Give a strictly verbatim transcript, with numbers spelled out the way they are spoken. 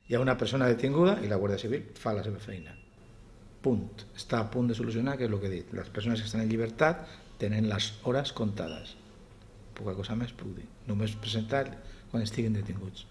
Hi ha una persona detinguda i la Guàrdia Civil fa la seva feina. Punt. Està a punt de solucionar, que és el que he dit. Les persones que estan en llibertat tenen les hores comptades. Poca cosa més puc dir. Només presentar quan estiguin detinguts.